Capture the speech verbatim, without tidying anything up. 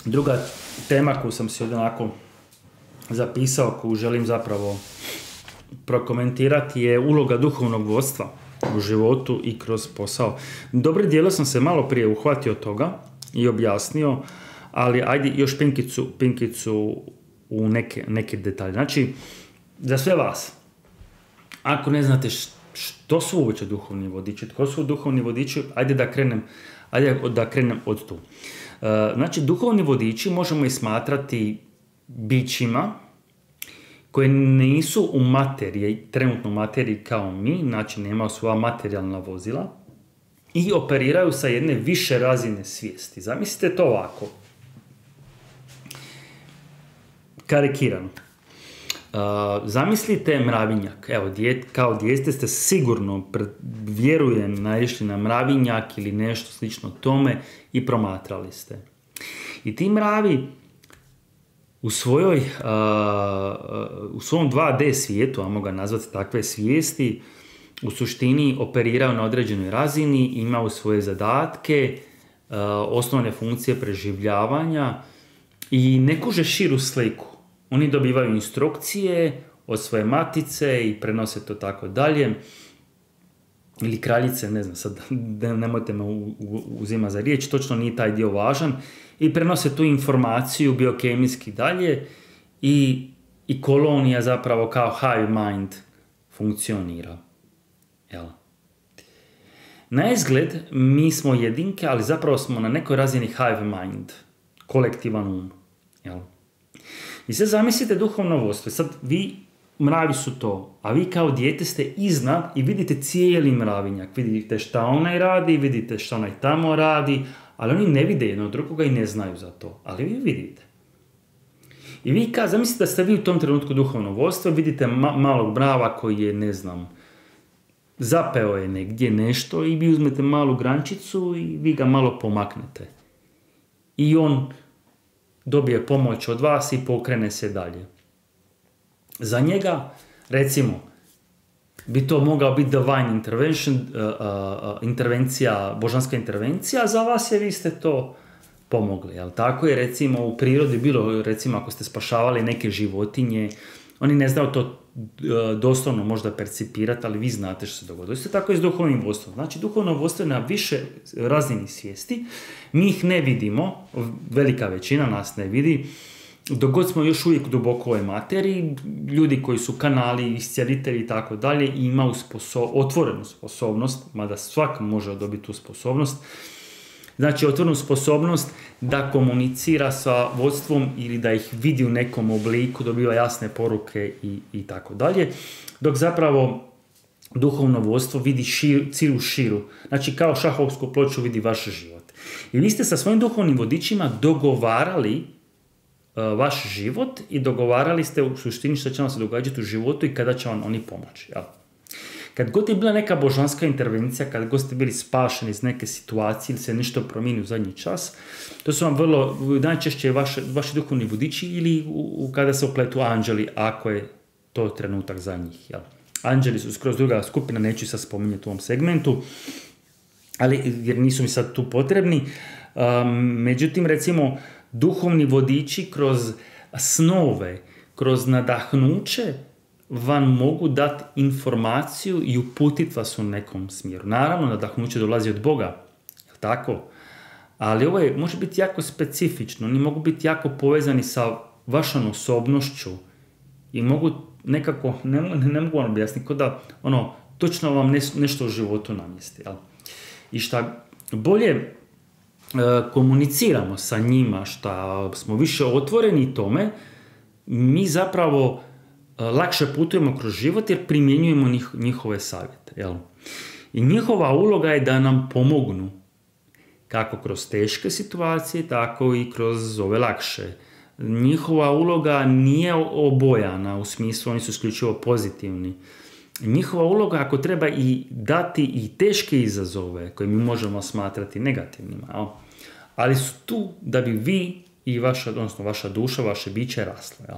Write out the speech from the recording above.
Druga tema koju sam si ovdje onako zapisao, koju želim zapravo prokomentirati, je uloga duhovnog vodstva u životu i kroz posao. Dobre dijelo sam se malo prije uhvatio toga i objasnio, ali ajde još pinkicu, pinkicu u neke, neke detalje. Znači, za sve vas, ako ne znate što su uopće duhovni vodiči, tko su duhovni vodiči, ajde da krenem, ajde da krenem od tu. Znači, duhovni vodiči možemo ih smatrati bićima koje nisu u materiji, trenutno u materiji kao mi, znači nemaju svoja materijalna vozila i operiraju sa jedne više razine svijesti. Zamislite to ovako. Karikirano. Uh, zamislite mravinjak. Evo, djet, kao dijete ste sigurno, vjerujem, naišli na mravinjak ili nešto slično tome i promatrali ste. I ti mravi u svojoj, uh, u svom dva D svijetu, a mogu ga nazvati takve svijesti, u suštini operiraju na određenoj razini, imaju svoje zadatke, uh, osnovne funkcije preživljavanja i ne kuže širu sliku. Oni dobivaju instrukcije od svoje matice i prenose to tako dalje. Ili kraljice, ne znam, sad nemojte me uzima za riječ, točno nije taj dio važan. I prenose tu informaciju biokemijski dalje i, i kolonija zapravo kao hive mind funkcionira. Jel? Na izgled mi smo jedinke, ali zapravo smo na nekoj razini hive mind, kolektivan um. Jel? I sad zamislite duhovno vodstvo. Sad vi, mravi su to, a vi kao dijete ste iznad i vidite cijeli mravinjak. Vidite šta onaj radi, vidite šta onaj tamo radi, ali oni ne vide jedno drugoga i ne znaju za to. Ali vi vidite. I vi kao, zamislite da ste vi u tom trenutku duhovno vodstvo, vidite ma- malog mrava koji je, ne znam, zapeo je negdje nešto i vi uzmete malu grančicu i vi ga malo pomaknete. I on dobije pomoć od vas i pokrene se dalje. Za njega, recimo, bi to mogao biti divine intervention, uh, uh, intervencija, božanska intervencija, a za vas je vi ste to pomogli. Jel? Tako je, recimo, u prirodi bilo, recimo, ako ste spašavali neke životinje, oni ne znaju to uh, doslovno možda percipirati, ali vi znate što se dogodilo. Isto tako je s duhovnim vodstvom. Znači, duhovno vodstvo je na više razini svijesti. Mi ih ne vidimo, velika većina nas ne vidi, dok god smo još uvijek duboko u ovoj materiji, ljudi koji su kanali, iscijelitelji i tako dalje, imaju sposo- otvorenu sposobnost, mada svak može dobiti tu sposobnost, znači otvorenu sposobnost da komunicira sa vodstvom ili da ih vidi u nekom obliku, dobiva jasne poruke i, i tako dalje, dok zapravo duhovno vodstvo vidi šir, cijelu širu, znači kao šahovsku ploču vidi vaš život. I vi ste sa svojim duhovnim vodičima dogovarali uh, vaš život i dogovarali ste u suštini što će vam se događati u životu i kada će vam oni pomoći. Jel? Kad god je bila neka božanska intervencija, kad god ste bili spašeni iz neke situacije ili se nešto promijeni u zadnji čas, to su vam vrlo, najčešće vaše, vaši duhovni vodiči ili u, u, kada se upletu anđeli, ako je to trenutak za njih. Jel? Anđeli su skroz druga skupina, neću sad spominjati u ovom segmentu, ali jer nisu mi sad tu potrebni. Um, međutim, recimo, duhovni vodiči kroz snove, kroz nadahnuće vam mogu dati informaciju i uputiti vas u nekom smjeru. Naravno, nadahnuće dolazi od Boga, je li tako? Ali ovo je, može biti jako specifično, oni mogu biti jako povezani sa vašom osobnošću i mogu nekako, ne, ne, ne mogu vam objasniti, kao da ono, točno vam nes, nešto u životu namjesti, jel? I šta bolje e, komuniciramo sa njima, šta smo više otvoreni tome, mi zapravo e, lakše putujemo kroz život jer primjenjujemo njih, njihove savjete. Jel? I njihova uloga je da nam pomognu kako kroz teške situacije, tako i kroz ove lakše. Njihova uloga nije obojana, u smislu oni su isključivo pozitivni. Njihova uloga, ako treba i dati i teške izazove koje mi možemo smatrati negativnima, jel? Ali su tu da bi vi i vaša, odnosno vaša duša, vaše biće raslo. Jel?